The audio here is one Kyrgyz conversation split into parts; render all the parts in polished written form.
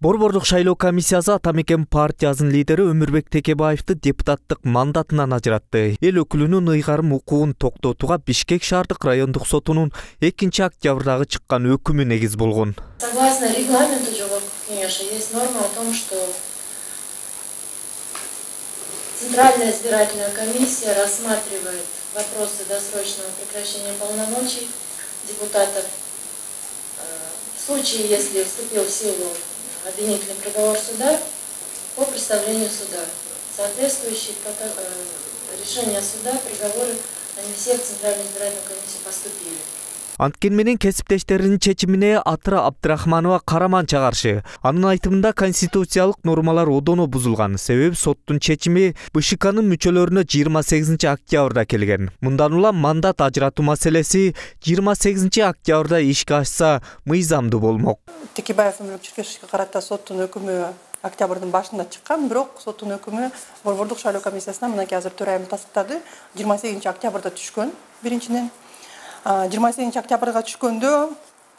Борбордук шайлоо комиссиясы Ата Мекен партиясынын лидери Өмүрбек Текебаевди депутаттык мандатынан ажыратты. Эл өкүлүнүн ыйгарым укугун токтотууга Бишкек шаардык райондук сотунун 2 октябрдагы чыккан өкүмү негиз болгон. Согласно регламенту Жогорку Кеңеши есть норма о том, что Центральная избирательная комиссия рассматривает вопросы досрочного прекращения полномочий депутатов в случае, если вступил в силу обвинительный приговор суда по представлению суда. Соответствующие решения суда, приговоры, они все в Центральную избирательную комиссию поступили. Анткени менен кесиптештеринин чечимине Атыра Абдрахманова караманча каршы. Анын айтымында конституциялык нормалар одоно бузулган. Себеби соттун чечими БШКнын мүчөлөрүнө 28 октябрда келген. Мындан улам мандат ажыратуу маселеси 28 октябрда ишке ашса мыйзамдуу болмок. Текебаев Өмүрбек карата соттун өкүмү октябрдын башында чыккан, бирок соттун өкүмү Борбордук шайлоо комиссиясына мынакей азыр төрайым тастыктады. 28 октябрда түшкөн биринчиден. 28 октябрга түшкөндө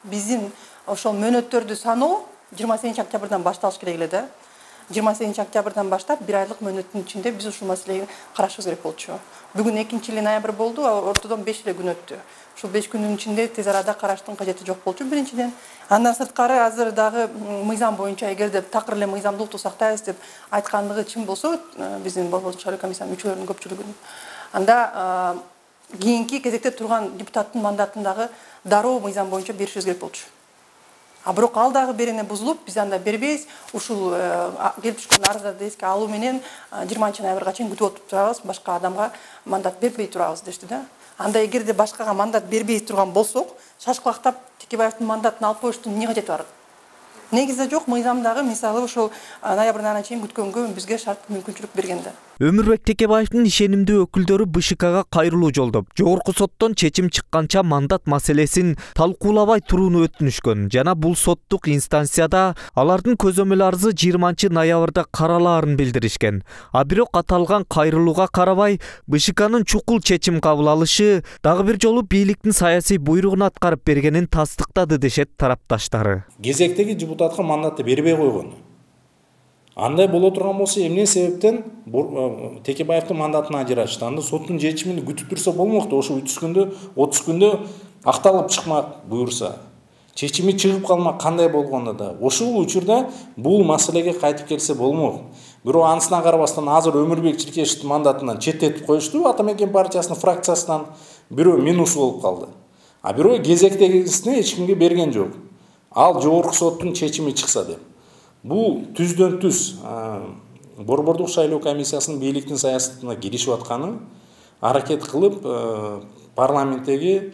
биздин ошол мөөнөттөрдү саноо 28 октябрдан башталыш керек эле да. 28 октябрдан баштап 1 айлык мөөнөттүн ичинде биз ушул маселени карашыбыз керек болчу. Бүгүн 2-ноябрь болду, ортодон 5 эле күн өттү. Ушул 5 күндүн ичинде тез арада караштын кажети жок болчу биринчиден. Андан сырткары азыр дагы мыйзам боюнча эгерде такыр эле мыйзамдуулукту сактайбыз деп айткандыгы чын болсо, биздин Борбордук шайлоо комиссиянын мүчөлөрүнүн көпчүлүгүнүн, анда кийинки кезекте турган депутаттын мандатындагы дароо мыйзам боюнча беришибиз керек болчу. Бирок ал дагы берене бузулуп, биз анда бербейбиз. Ушул келип түшкөн арыздарды эске алуу менен 20 ноябрга чейин күтүп отуруп турабыз, башка адамга мандат бербей турабыз дешти да. Анда эгерде башкага мандат бербей турган болсок, шашкылактап Текебаевдин мандатын алып коюштун эмне кажети бар? Негизде жок, мыйзамдагы мисалы ошол ноябрдын айына чейин күткөнгө бизге шарт мүмкүнчүлүк берген да. Өмүрбек Текебаевдин ишенимдүү өкүлдөрү БШКга кайрылуу жолдоп, жогорку соттон чечим чыкканча мандат маселесин талкуулабай турууну өтүнүшкөн жана бул соттук инстанцияда алардын көзөмөл арызы 20 ноябрда каралаарын билдиришкен. Бирок аталган кайрылууга карабай БШКнын чукул чечим кабыл алышы дагы бир жолу бийликтин саясий буйругун аткарып бергенин тастыктады дешет тарапташтары. Кезектеги депутатка мандатты бербей койгон. Андай боло турган болсо эмне себептен Текебаевдин мандатын ажыратышты? Анда соттун чечимин күтүп турса болмокту. Ошо 30 күндө акталып чыкмак буюрса. Чечими чыгып калмак кандай болгондо да. Ошол учурда бул маселеге кайтып келсе болмок. Бирок анысына карабастан азыр Өмүрбек Чиркешевдин мандатынан четтетип коюшту. Ата Мекен партиясынын фракциясынан бирөө минус болуп калды. Бирөө кезектегисине эч кимге берген жок. Ал жогорку соттун чечими чыкса деп. Бул түздөн түз Борбордук шайлоо комиссиясынын бийликтин саясатына киришип атканы, аракет кылып парламенттеги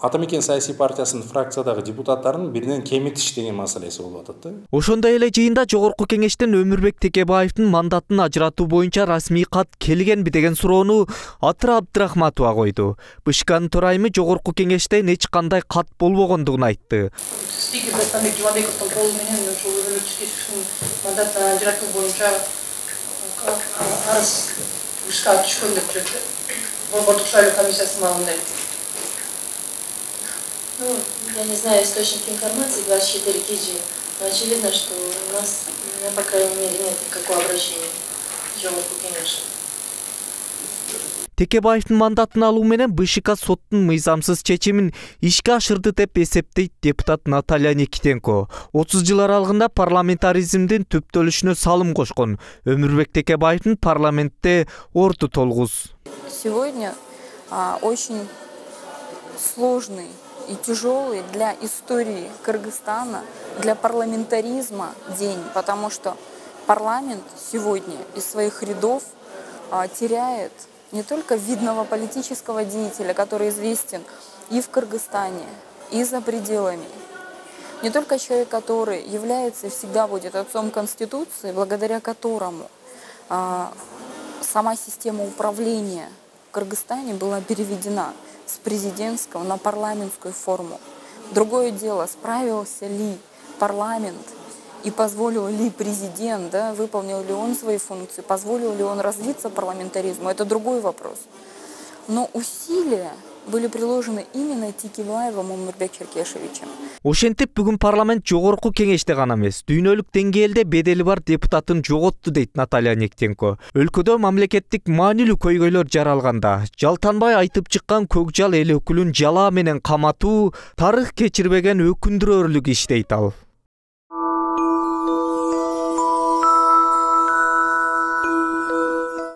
Ата Мекен саясий партиясынын фракциядагы депутаттарын биринен кемитиш деген маселеси болуп атат да. Ошондой эле жыйында Жогорку Кеңештен Өмүрбек Текебаевдин мандатын ажыратуу боюнча расмий кат келгенби деген суроону Атыра Абдрахматова койду. БШКнын төрайымы Жогорку Кеңештен эч кандай кат болбогондугун айтты. Спикер Дастамбек Жумабековдун колу менен ошол Өмүрбек Чиркешевдин мандатын ажыратуу боюнча арыз БШКга түшкөн деп жүрөт. Борбордук шайлоо комиссиясынын алдында. Я не знаю источники информации 24 KG, но очевидно, что у нас, по крайней мере, нет никакого обращения к Жогорку Кеңешу. Текебаевдин мандатын алуу менен БШК соттун мыйзамсыз чечимин ишке ашырды деп эсептейт депутат Наталья Никитенко. 30 жыл аралыгында парламентаризмдин түптөлүшүнө салым кошкон Өмүрбек Текебаевдин парламентте орду толгуз. Сегодня очень сложный и тяжелый для истории Кыргызстана, для парламентаризма день, потому что парламент сегодня из своих рядов теряет не только видного политического деятеля, который известен и в Кыргызстане, и за пределами, не только человек, который является и всегда будет отцом Конституции, благодаря которому сама система управления в Кыргызстане была переведена с президентского на парламентскую форму. Другое дело, справился ли парламент и позволил ли президент, выполнил ли он свои функции, позволил ли он развиться парламентаризму, это другой вопрос. Но усилия были приложены именно Текебаевым Умурбек Черкешевичем. Ошентип бүгүн парламент жогорку кеңеште гана эмес, дүйнөлүк деңгээлде бедели бар депутатын жоготту дейт Наталья Нектенко. Өлкөдө мамлекеттик маанилүү көйгөйлөр жаралганда жалтанбай айтып чыккан Көкжал эл өкүлүн жалаа менен каматуу тарых кечирбеген өкүндүрөрлүк иш дейт ал.